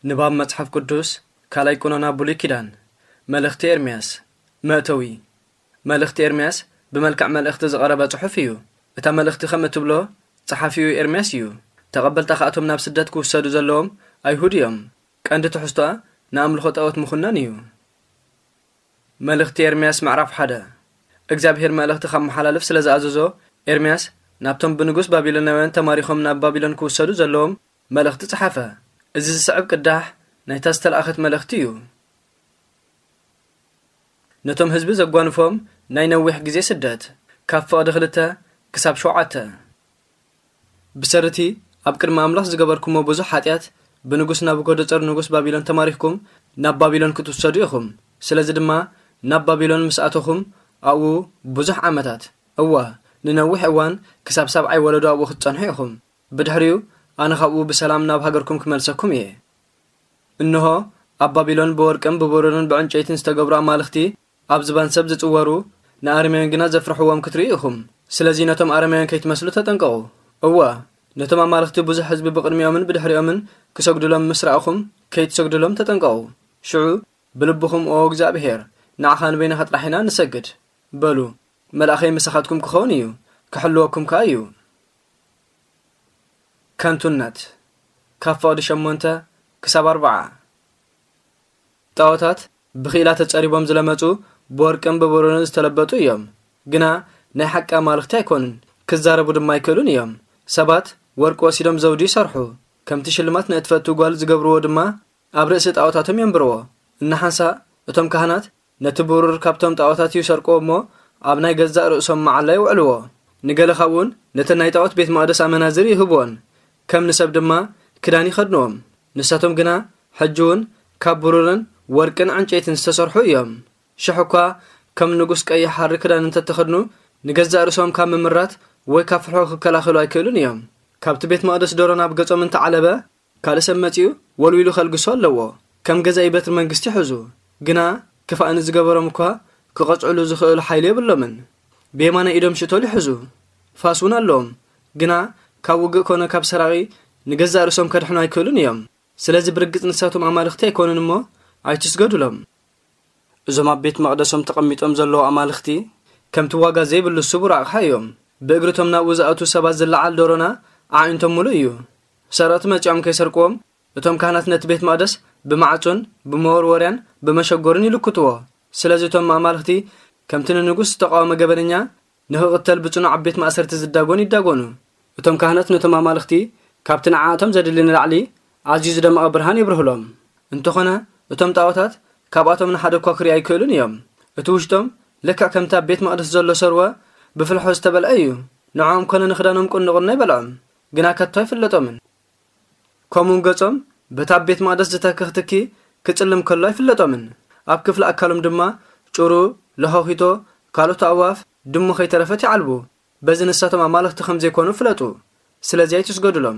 ንባብ መጽሓፍ ቅዱስ፣ ካልኣይ ቀኖና ብሉይ ኪዳን። መልእኽቲ ኤርምያስ። መእተዊ። መልእኽቲ ኤርምያስ ብመልክዕ መልእኽቲ ዝቐረበ ጽሑፍ እዩ። እታ መልእኽቲ ከም እትብሎ፣ ጸሓፊኡ ኤርምያስ እዩ። ተቐበልታ ከኣቶም ናብ ስደት ክውሰዱ ዘለዎም ኣይሁድ እዮም። ቀንዲ ትሕዝቶኣ ንኣምልኾ ጣዖት ምኹናን እዩ። መልእኽቲ ኤርምያስ ምዕራፍ ሓደ። እግዚኣብሔር መልእኽቲ ካብ መሓላልፍ ስለ ዝኣዘዞ፣ ኤርምያስ ናብቶም ብንጉስ ባቢሎናውያን ተማሪኾም ናብ ባቢሎን ክውሰዱ ዘለዎም መልእኽቲ ጸሓፈ። እዚ ዝስዕብ ቅዳሕ ናይታ ዝተለኣኸት መልእኽቲ እዩ። ነቶም ህዝቢ ዘጓንፎም ናይ ነዊሕ ግዜ ስደት፣ ካብ ፍቕዲ ክልተ ክሳብ ሸውዓተ። ብሰሪ እቲ ኣብ ቅድሚ ኣምላኽ ዝገበርኩሞ ብዙሕ ሓጢኣት፣ ብንጉስ ናቡከደጸር ንጉስ ባቢሎን ተማሪኽኩም ናብ ባቢሎን ክትውሰዱ ኢኹም። ስለዚ ድማ ናብ ባቢሎን ምስ ኣተኹም ኣብኡ ብዙሕ ዓመታት፣ እወ፣ ንነዊሕ እዋን ክሳብ ሳብዓይ ወለዶ ኣብኡ ክትጸንሑ ኢኹም። ብድሕሪኡ ኣነ ካብኡ ብሰላም ናብ ሃገርኩም ክመልሰኩም እየ። እንሆ፣ ኣብ ባቢሎን ብወርቅን ብብሩርን ብዕንጨይትን ዝተገብሩ ኣማልኽቲ ኣብ ዝባን ሰብ ዝጽወሩ፣ ንኣረማውያን ግና ዘፍርሕዎም ክትርእዩ ኢኹም። ስለዚ ነቶም ኣረማውያን ከይትመስሉ ተጠንቀቑ። እወ፣ ነቶም ኣማልኽቲ ብዙሕ ህዝቢ ብቕድሚኦምን ብድሕሪኦምን ክሰግዱሎም ምስ ረኣኹም፣ ከይትሰግዱሎም ተጠንቀቑ። ሽዑ ብልብኹም፣ "ኦ እግዚኣብሄር፣ ንዓኻ ንበይንኻ ጥራሕ ኢና ንሰግድ" በሉ። መልኣኸይ ምሳኻትኩም ክኸውን እዩ፣ ክሕልወኩም ከኣ እዩ። ከንቱነት። ካብ ፍቕዲ ሸሞንተ ክሳብ ኣርብዓ። ጣዖታት ብኽኢላ ተጸሪቦም ዝለመጹ፣ ብወርቅን ብብሩርን ዝተለበጡ እዮም። ግና ናይ ሓቂ ኣማልኽቲ ኣይኮኑን፣ ክዛረቡ ድማ ኣይክእሉን እዮም። ሰባት ወርቂ ወሲዶም ዘውዲ ይሰርሑ፣ ከምቲ ሽልማት ንእትፈቱ ጓል ዝገብርዎ ድማ ኣብ ርእሲ ጣዖታቶም የንብርዎ። እናሓንሳእ እቶም ካህናት ነቲ ብሩር ካብቶም ጣዖታት ይሰርቅዎ እሞ ኣብ ናይ ገዛእ ርእሶም መዓላ የውዕልዎ። ንገለ ካብኡን ነተን ናይ ጣዖት ቤት መቕደስ ኣመናዝር ይህብዎን፣ ከም ንሰብ ድማ ክዳን ይኸድንዎም። ንሳቶም ግና ሕጂ እውን ካብ ብሩርን ወርቅን ዕንጨይትን ዝተሰርሑ እዮም። ሽሕ እኳ ከም ንጉስ ቀይሕ ሃሪ ክዳን እንተተኸድኑ፣ ንገዛእ ርእሶም ካብ ምምራት ወይ ካብ ፍርሒ ክከላኸሉ ኣይክእሉን እዮም። ካብቲ ቤት መቕደስ ደሮ ናብ ገጾም እንተዓለበ፣ ካልእ ሰብ መጺኡ ወልዊሉ ከልግሶ ኣለዎ። ከም ገዛኢ በትሪ መንግስቲ ይሕዙ። ግና ክፋእ ንዝገበሮም እኳ ክቐጽዕሉ ዝኽእሉ ሓይሊ የብሎምን። ብየማናይ ኢዶም ሽቶል ይሕዙ። ፋስ እውን ኣለዎም። ግና ካብ ውግእ ኮነ ካብ ሰራቒ ንገዛእ ርእሶም ከድሕኑ ኣይክእሉን እዮም። ስለዚ ብርግጽ ንሳቶም ኣማልኽቲ ኣይኮኑን እሞ ኣይትስገዱሎም። እዞም ኣብ ቤት መቕደሶም ተቐሚጦም ዘለዉ ኣማልኽቲ ከምቲ ዋጋ ዘይብሉ ስቡር ኣቕሓ እዮም። ብእግርቶም ናብኡ ዝኣትዉ ሰባት ዝለዓል ደሮና ኣዒንቶም ምሉእ እዩ። ሰረቕቲ መጺኦም ከይሰርቅዎም እቶም ካህናት ነቲ ቤት መቕደስ ብማዕጾን ብመወርወርያን ብመሸጎርን ይልክትዎ። ስለዚ እቶም ኣማልኽቲ ከምቲ ንንጉስ ዝተቓወመ ገበነኛ ንኽቕተል ብጽኑዕ ኣብ ቤት ማእሰርቲ ዝዳጎን ይዳጎኑ። እቶም ካህናት ነቶም ኣማልኽቲ ካብቲ ንዓኣቶም ዘድሊ ንላዕሊ ኣዝዩ ዝደመቐ ብርሃን የብርህሎም። እንተኾነ እቶም ጣዖታት ካብኣቶም ንሓደ እኳ ክርኢ ኣይክእሉን እዮም። እቲ ውሽጦም ልክዕ ከምቲ ኣብ ቤት መቕደስ ዘሎ ሰርወ ብፍልሖ ዝተበልዐ እዩ። ንዕኦም ኮነ ንኽዳኖም ቁንቁን ኣይበልዖም፣ ግና ከቶ ኣይፍለጦምን። ከምኡውን ገጾም በቲ ኣብ ቤት መቕደስ ዝተክኽ ትኪ ክጽልም ከሎ ኣይፍለጦምን። ኣብ ክፍሊ ኣካሎም ድማ ጭሩ፣ ለኾኺቶ፣ ካልኦት ኣእዋፍ፣ ድሙ ከይተረፈት ይዓልቡ። በዚ ንሳቶም ኣማልኽቲ ከም ዘይኮኑ ፍለጡ። ስለዚ ኣይትስገዱሎም።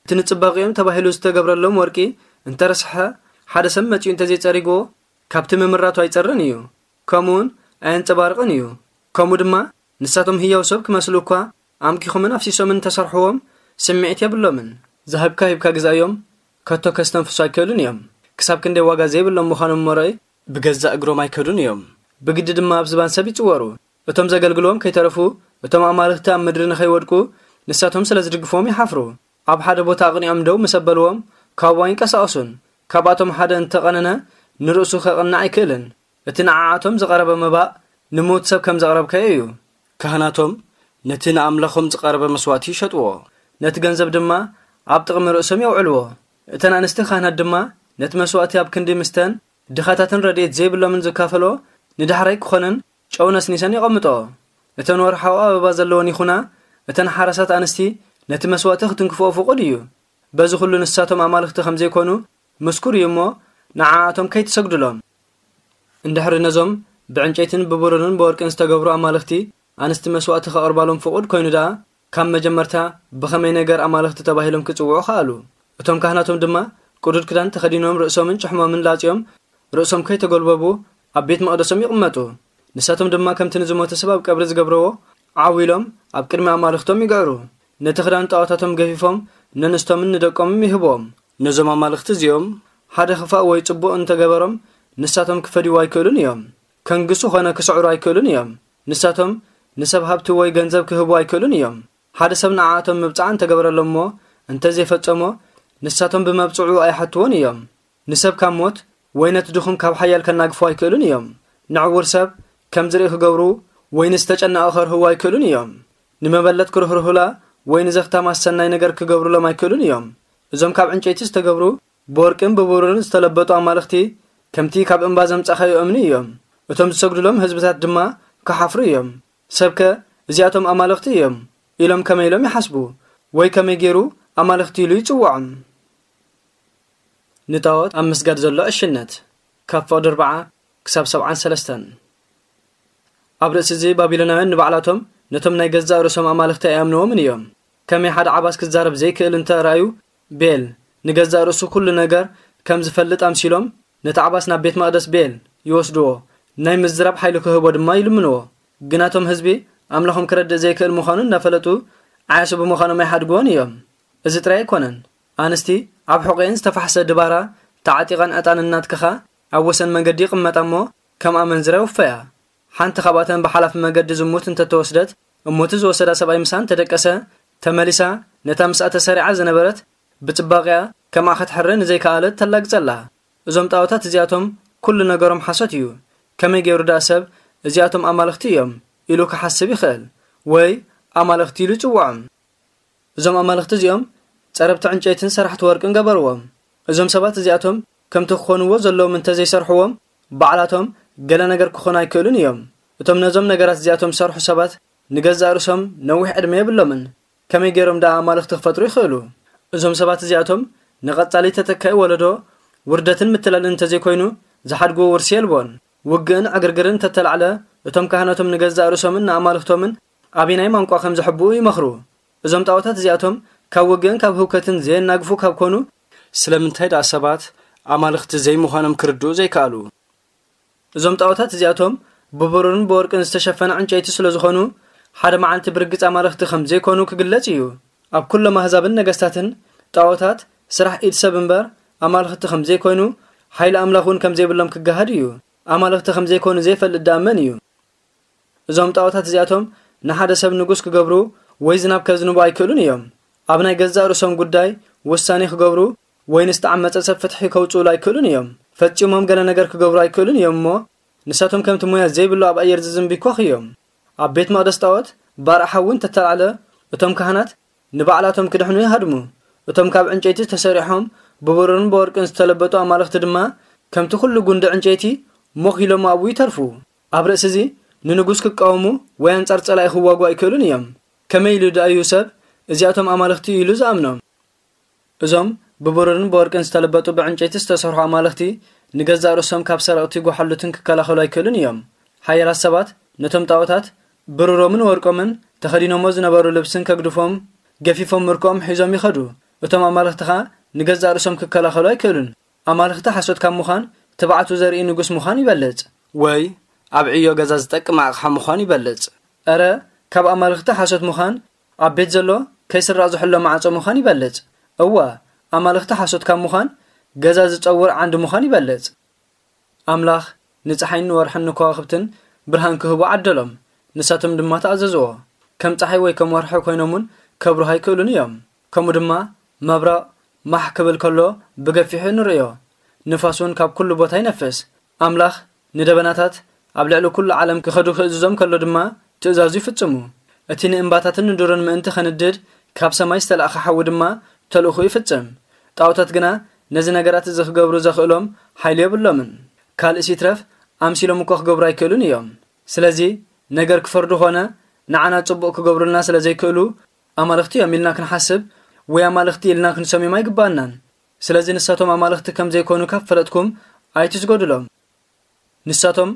እቲ ንጽባቕኦም ተባሂሉ ዝተገብረሎም ወርቂ እንተረስሐ፣ ሓደ ሰብ መጺኡ እንተዘይጸሪግዎ፣ ካብቲ ምምራቱ ኣይጸርን እዩ፣ ከምኡውን ኣየንጸባርቕን እዩ። ከምኡ ድማ ንሳቶም ህያው ሰብ ክመስሉ እኳ ኣምኪኾምን ኣፍሲሶምን እንተሰርሕዎም ስምዒት የብሎምን። ዝሃብካ ሂብካ ግዛዮም፣ ከቶ ከስተንፍሱ ኣይክእሉን እዮም። ክሳብ ክንደይ ዋጋ ዘይብሎም ምዃኖም እሞ ርኣይ፣ ብገዛእ እግሮም ኣይከዱን እዮም። ብግዲ ድማ ኣብ ዝባን ሰብ ይጽወሩ። እቶም ዘገልግልዎም ከይተረፉ፣ እቶም ኣማልኽቲ ኣብ ምድሪ ንኸይወድቁ ንሳቶም ስለ ዝድግፍዎም ይሓፍሩ። ኣብ ሓደ ቦታ ኣቕኒዖም ደው ምስ ኣበልዎም፣ ካብኡ ኣይንቀሳቐሱን። ካብኣቶም ሓደ እንተቐነነ፣ ንርእሱ ከቕንዕ ኣይክእልን። እቲ ንዓኣቶም ዝቐረበ መባእ ንምዉት ሰብ ከም ዘቕረብካዮ እዩ። ካህናቶም ነቲ ንኣምላኾም ዝቐረበ መስዋእቲ ይሸጥዎ፣ ነቲ ገንዘብ ድማ ኣብ ጥቕሚ ርእሶም የውዕልዎ። እተን ኣንስቲ ካህናት ድማ ነቲ መስዋእቲ ኣብ ክንዲ ምስተን ድኻታትን ረድኤት ዘይብሎምን ዝካፈልኦ ንዳሕራይ ክኾነን ጨው ነስኒሰን የቐምጥኦ። እተን ወርሓዊ ኣበባ ዘለወን ይኹና፣ እተን ሓራሳት ኣንስቲ ነቲ መስዋእቲ ክትንክፍኦ ፍቑድ እዩ። በዚ ኹሉ ንሳቶም ኣማልኽቲ ከም ዘይኮኑ ምስኩር እዩ እሞ፣ ንዓኣቶም ከይትሰግዱሎም። እንድሕሪ ነዞም ብዕንጨይትን ብብሩርን ብወርቅን ዝተገብሩ ኣማልኽቲ ኣንስቲ መስዋእቲ ከቕርባሎም ፍቑድ ኮይኑ ደኣ፣ ካብ መጀመርታ ብኸመይ ነገር ኣማልኽቲ ተባሂሎም ክጽውዑ ከኣሉ? እቶም ካህናቶም ድማ ቅዱድ ክዳን ተኸዲኖም ርእሶምን ጭሕሞምን ላጽዮም ርእሶም ከይተጎልበቡ ኣብ ቤት መቕደሶም ይቕመጡ። ንሳቶም ድማ ከምቲ ንዝሞተ ሰብ ኣብ ቀብሪ ዝገብርዎ ዓው ኢሎም ኣብ ቅድሚ ኣማልኽቶም ይግዕሩ። ነቲ ክዳን ጣዖታቶም ገፊፎም ነንስቶምን ንደቆምን ይህብዎም። ነዞም ኣማልኽቲ እዚኦም ሓደ ኽፋእ ወይ ጽቡቕ እንተገበሮም፣ ንሳቶም ክፈድይዎ ኣይክእሉን እዮም። ከንግሱ ኾነ ክስዕሩ ኣይክእሉን እዮም። ንሳቶም ንሰብ ሃብቲ ወይ ገንዘብ ክህቡ ኣይክእሉን እዮም። ሓደ ሰብ ንዓኣቶም ምብጻዕ እንተገበረሎም እሞ እንተዘይፈጸሞ፣ ንሳቶም ብመብጽዑ ኣይሓትዎን እዮም። ንሰብ ካብ ሞት ወይ ነቲ ድኹም ካብ ሓያል ከናግፎ ኣይክእሉን እዮም። ንዕውር ሰብ ከም ዝርኢ ክገብሩ ወይ ንዝተጨነቐ ከርህዎ ኣይክእሉን እዮም። ንመበለት ክርህርሁላ ወይ ንዘኽታም ኣሰናይ ነገር ክገብሩሎም ኣይክእሉን እዮም። እዞም ካብ ዕንጨይቲ ዝተገብሩ ብወርቅን ብብሩርን ዝተለበጡ ኣማልኽቲ ከምቲ ካብ እምባ ዘምጻኻዮ እምኒ እዮም። እቶም ዝሰግዱሎም ህዝብታት ድማ ክሓፍሩ እዮም። ሰብከ እዚኣቶም ኣማልኽቲ እዮም ኢሎም ከመይ ኢሎም ይሓስቡ? ወይ ከመይ ገይሩ ኣማልኽቲ ኢሉ ይጽውዖም? ንጣዖት ኣብ ምስጋድ ዘሎ ዕሽነት ካብ ፍቕዲ ኣርብዓ ክሳብ ሰብዓን ሰለስተን። ኣብ ርእሲ እዚ ባቢሎናውያን ንባዕላቶም ነቶም ናይ ገዛእ ርእሶም ኣማልኽቲ ኣይኣምንዎምን እዮም። ከመይ ሓደ ዓባስ ክዛረብ ዘይክእል እንተ ረኣዩ፣ ቤል ንገዛእ ርእሱ ኩሉ ነገር ከም ዝፈልጥ ኣምሲሎም ነቲ ዓባስ ናብ ቤት መቕደስ ቤል ይወስድዎ፣ ናይ ምዝራብ ሓይሊ ክህቦ ድማ ይልምንዎ። ግናቶም ህዝቢ ኣምላኾም ክረድእ ዘይክእል ምዃኑ እናፈለጡ ዓያሱ ብምዃኖም ኣይሓድግዎን እዮም። እዚ ጥራይ ኣይኮነን። ኣንስቲ ኣብ ሕቖኤን ዝተፋሕሰ ድባራ ተዓጢቐን ዕጣን እናትከኻ ኣብ ወሰን መንገዲ ይቕመጣ እሞ ከም ኣመንዝራ ይውፈያ። ሓንቲ ካብኣተን ብሓላፊ መገዲ ዝሙት እንተተወስደት እሞ እቲ ዝወሰዳ ሰብኣይ ምሳን ተደቀሰ ተመሊሳ ነታ ምስኣ ተሰሪዓ ዝነበረት ብጽባቕያ ከምኣ ክትሕረ ንዘይከኣለት ተላግጸላ። እዞም ጣዖታት እዚኣቶም ኩሉ ነገሮም ሓሶት እዩ። ከመይ ገይሩ ደኣ ሰብ እዚኣቶም ኣማልኽቲ እዮም ኢሉ ክሓስብ ይኽእል? ወይ ኣማልኽቲ ኢሉ ይጽውዖም? እዞም ኣማልኽቲ እዚኦም ጸረብቲ ዕንጨይትን ሰራሕቲ ወርቅን ገበርዎም። እዞም ሰባት እዚኣቶም ከምቲ ክኾንዎ ዘለዎም እንተዘይሰርሕዎም ባዕላቶም ገለ ነገር ክኾኑ ኣይክእሉን እዮም። እቶም ነዞም ነገራት እዚኣቶም ዝሰርሑ ሰባት ንገዛእ ርእሶም ነዊሕ ዕድመ የብሎምን። ከመይ ገይሮም ደኣ ኣማልኽቲ ክፈጥሩ ይኽእሉ? እዞም ሰባት እዚኣቶም ንቐጻሊ ተተካኢ ወለዶ ውርደትን ምትላልን እንተዘይኮይኑ ዝሓድግዎ ውርሲ የልቦን። ውግእን ዕግርግርን እንተተላዕለ እቶም ካህናቶም ንገዛእ ርእሶምን ንኣማልኽቶምን ኣበየናይ ማንቋ ከም ዘሕብኡ ይመኽሩ። እዞም ጣዖታት እዚኣቶም ካብ ውግእን ካብ ህውከትን ዘየናግፉ ካብ ኮኑ፣ ስለምንታይ ደኣ ሰባት ኣማልኽቲ ዘይምዃኖም ክርድኡ ዘይከኣሉ? እዞም ጣዖታት እዚኣቶም ብብሩርን ብወርቅን ዝተሸፈነ ዕንጨይቲ ስለ ዝኾኑ፣ ሓደ መዓልቲ ብርግጽ ኣማልኽቲ ከም ዘይኮኑ ክግለጽ እዩ። ኣብ ኩሎም ኣህዛብን ነገስታትን ጣዖታት ስራሕ ኢድ ሰብ እምበር ኣማልኽቲ ከም ዘይኮይኑ፣ ሓይሊ ኣምላኽ እውን ከም ዘይብሎም ክገሃድ እዩ። ኣማልኽቲ ከም ዘይኮኑ ዘይፈልጥ ደኣ መን እዩ? እዞም ጣዖታት እዚኣቶም ንሓደ ሰብ ንጉስ ክገብሩ ወይ ዝናብ ከዝንቡ ኣይክእሉን እዮም። ኣብ ናይ ገዛእ ርእሶም ጉዳይ ውሳኔ ክገብሩ ወይ ንዝተዓመጸ ሰብ ፍትሒ ከውጽኡሉ ኣይክእሉን እዮም። ፈጺሞም ገለ ነገር ክገብሩ ኣይክእሉን እዮም እሞ፣ ንሳቶም ከምቲ ሙያ ዘይብሉ ኣብ ኣየር ዝዝንቢ ኮኽ እዮም። ኣብ ቤት መቕደስ ጣዖት ባርዕ ሓዊ እንተተላዕለ፣ እቶም ካህናት ንባዕላቶም ክድሕኑ ይሃድሙ። እቶም ካብ ዕንጨይቲ ተሰሪሖም ብብሩርን ብወርቅን ዝተለበጡ ኣማልኽቲ ድማ ከምቲ ኩሉ ጉንዲ ዕንጨይቲ ሞኽ ኢሎም ኣብኡ ይተርፉ። ኣብ ርእሲ እዚ ንንጉስ ክቃወሙ ወይ ኣንጻር ጸላኢ ክዋጉ ኣይክእሉን እዮም። ከመይ ኢሉ ደኣ እዩ ሰብ እዚኣቶም ኣማልኽቲ ኢሉ ዝኣምኖም? እዞም ብብሩርን ብወርቅን ዝተለበጡ ብዕንጨይቲ ዝተሰርሑ ኣማልኽቲ ንገዛእ ርእሶም ካብ ሰረቕቲ ጓሓሉትን ክከላኸሉ ኣይክእሉን እዮም። ሓያላት ሰባት ነቶም ጣዖታት ብሩሮምን ወርቆምን ተኸዲኖሞ ዝነበሩ ልብስን ከግድፎም ገፊፎም ምርኮኦም ሒዞም ይኸዱ። እቶም ኣማልኽቲ ኸኣ ንገዛእ ርእሶም ክከላኸሉ ኣይክእሉን። ኣማልኽቲ ሓሶት ካብ ምዃን ትብዓቱ ዘርኢ ንጉስ ምዃን ይበልጽ። ወይ ኣብ ዕዮ ገዛ ዝጠቅም ኣቕሓ ምዃን ይበልጽ። እረ፣ ካብ ኣማልኽቲ ሓሶት ምዃን ኣብ ቤት ዘሎ ከይስረቕ ዝሕሎ ማዕጾ ምዃን ይበልጽ። እወ፣ ኣማልኽቲ ሓሶት ካብ ምዃን ገዛ ዝጸውር ዓንዲ ምዃን ይበልጽ። ኣምላኽ ንጸሓይን ንወርሕን ንከዋኽብትን ብርሃን ክህቡ ዓደሎም፣ ንሳቶም ድማ ተኣዘዝዎ። ከም ጸሓይ ወይ ከም ወርሒ ኮይኖም እውን ከብርሁ ኣይክእሉን እዮም። ከምኡ ድማ መብረቕ ማሕ ክብል ከሎ ብገፊሑ ንርእዮ። ንፋስ እውን ካብ ኩሉ ቦታ ይነፍስ። ኣምላኽ ንደበናታት ኣብ ልዕሊ ኩሉ ዓለም ክኸዱ ክእዝዞም ከሎ ድማ ትእዛዙ ይፍጽሙ። እቲ ንእምባታትን ንዱርን ምእንቲ ከንድድ ካብ ሰማይ ዝተላእኸ ሓዊ ድማ ተልእኾ ይፍጽም። ጣኦታት ግና ነዚ ነገራት እዚ ክገብሩ ዘኽእሎም ሓይሊ የብሎምን። ካልእስ ይትረፍ ኣምሲሎም እኳ ክገብሩ ኣይክእሉን እዮም። ስለዚ ነገር ክፈርዱ ኾነ ንዓና ጽቡቕ ክገብሩልና ስለ ዘይክእሉ ኣማልኽቲ እዮም ኢልና ክንሓስብ ወይ ኣማልኽቲ ኢልና ክንሰምዮም ኣይግባኣናን። ስለዚ ንሳቶም ኣማልኽቲ ከም ዘይኮኑ ካብ ፈለጥኩም ኣይትስገዱሎም። ንሳቶም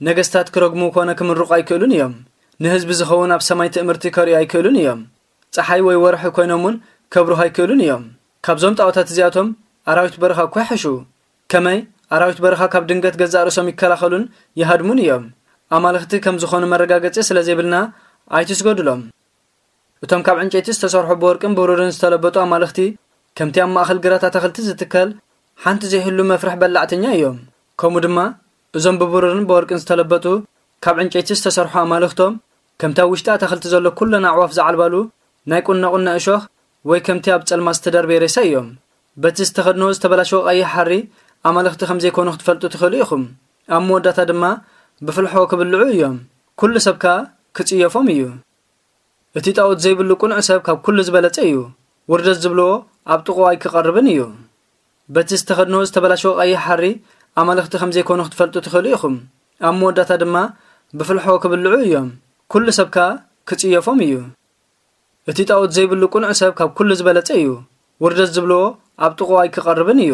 ነገስታት ክረግሙ ኮነ ክምርቑ ኣይክእሉን እዮም። ንህዝቢ ዝኸውን ኣብ ሰማይ ትእምርቲ ከርእዩ ኣይክእሉን እዮም። ጸሓይ ወይ ወርሒ ኮይኖም እውን ከብርሁ ኣይክእሉን እዮም። ካብዞም ጣኦታት እዚኣቶም ኣራዊት በረኻ እኳ ይሕሹ። ከመይ ኣራዊት በረኻ ካብ ድንገት ገዛእ ርእሶም ይከላኸሉን ይሃድሙን እዮም። ኣማልኽቲ ከም ዝኾኑ መረጋገጺ ስለ ዘይብልና ኣይትስገዱሎም። እቶም ካብ ዕንጨይቲ ዝተሰርሑ ብወርቅን ብሩርን ዝተለበጡ ኣማልኽቲ ከምቲ ኣብ ማእኸል ግራት ኣታኽልቲ ዝትከል ሓንቲ ዘይህሉ መፍርሕ በላዕተኛ እዮም። ከምኡ ድማ እዞም ብብሩርን ብወርቅን ዝተለበጡ ካብ ዕንጨይቲ ዝተሰርሑ ኣማልኽቶም ከምቲ ኣብ ውሽጢ ኣታኽልቲ ዘሎ ኩለን ኣዕዋፍ ዝዓልባሉ ናይ ቁነቁነ እሾኽ ወይ ከምቲ ኣብ ጸልማት ዝተደርበየ ሬሳ እዮም። በቲ ዝተኸድንዎ ዝተበላሸወ ቀይሕ ሓሪ ኣማልኽቲ ከም ዘይኮኑ ክትፈልጡ ትኽእሉ ኢኹም። ኣብ መወዳእታ ድማ ብፍልሖ ክብልዑ እዮም። ኩሉ ሰብ ከኣ ክጽየፎም እዩ። እቲ ጣኦት ዘይብሉ ቅኑዕ ሰብ ካብ ኩሉ ዝበለጸ እዩ። ውርደት ዝብልዎ ኣብ ጥቕኡ ኣይክቐርብን እዩ። በቲ ዝተኸድንዎ ዝተበላሸወ ቀይሕ ሓሪ ኣማልኽቲ ከም ዘይኮኑ ክትፈልጡ ትኽእሉ ኢኹም። ኣብ መወዳእታ ድማ ብፍልሖ ክብልዑ እዮም። ኩሉ ሰብ ከኣ ክጽየፎም እዩ። እቲ ጣኦት ዘይብሉ ቅኑዕ ሰብ ካብ ኩሉ ዝበለጸ እዩ። ውርደት ዝብልዎ ኣብ ጥቕኡ ኣይክቐርብን እዩ።